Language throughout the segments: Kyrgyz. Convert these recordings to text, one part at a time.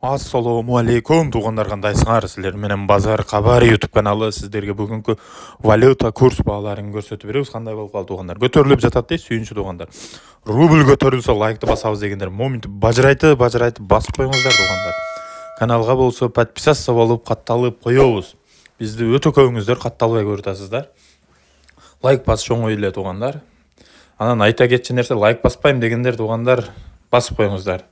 Ассалому алейкум туугандар, кандайсыңар? Силер менен Базар Кабар YouTube каналы сиздерге бүгүнкү валюта курс бааларын көрсөтүп беребиз. Кандай болуп калды туугандар? Көтөрүлүп жатат дейт, сүйүнчү туугандар. Рубль көтөрүлсө лайкты басабыз дегендер моментип бажырайты басып коюңуздар туугандар. Каналга болсо подписаться болуп катталып коебуз. Бизди өтө көбүңүздөр катталбай көрүп атасыздар. Лайк басыш оңой эле туугандар. Анан айта кетчү нерсе, лайк баспайм дегендер туугандар басып коюңуздар.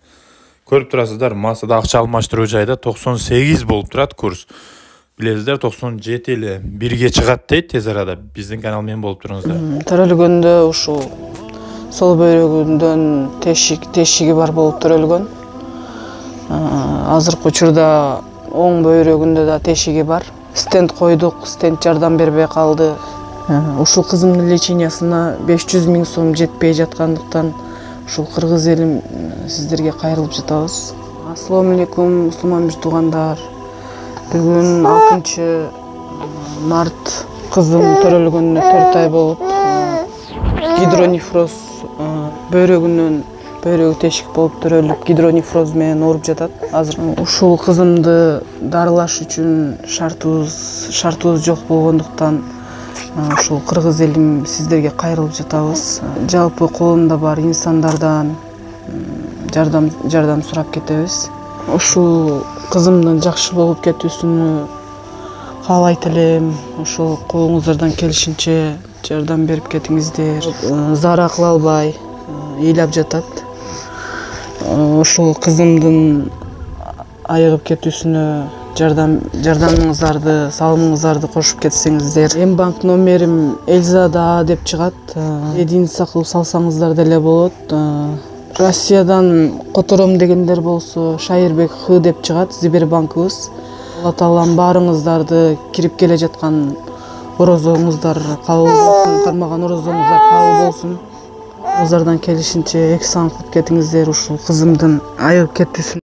Көрүп турасыздар, массада акча алмаштыруу жайда 98 болуп турат курс. Билесиздер, 97 эле 1ге чыгат дейт тез арада. Биздин канал менен болуп туруңуздар. Төрөлгөндө ушул сол бөйрөгүндөн тешиги бар болуп төрөлгөн. Азыркы учурда оң бөйрөгүндө да тешиги бар. Стенд койдук, стенд жардам бербей калды. Ушул кызымдын лечениясына 500 000 сом жетпей жаткандыктан ушул кыргыз элим сиздерге кайрылып жатабыз. Ассалому алейкум мусулман туугандар. Бүгүн 6-март кызым төрөлгөнүнө 4 ай болуп, гидронефроз бөйрөгү тешик болуп төрөлүп, гидронефроз менен ооруп жатат. Азыр ушул кызымды дарылаш үчүн шартыбыз жок болгондуктан ушул кыргыз элим сиздерге кайрылып жатабыз. Жалпы колунда бар инсандардан жардам сурап кетебиз. Ушул кызымдын жакшы болуп кетүүсүнү каалайт элем. Ушул колуңуздардан келишинче жардам берип кетиңиздер. Зара кыла албай ыйлап жатат. Ушул кызымдын айыгып кетүүсүнө жардамыңыздарды, салымыңыздарды кошуп кетсеңиздер. М-банк номерим Эльзада деп чыгат. Единица кылып салсаңыздар деле болот. Россиядан котором дегендер болсо Шайырбек Х деп чыгат Сбербанкыбыз. Алла таалам баарыңыздарды кирип келе жаткан орозоңуздар кабыл болсун, кармаган орозоңуздар кабыл болсун. Колуңуздардан келишинче эксан кылып кетиңиздер ушул кызымдын айыгып кетүүсүн.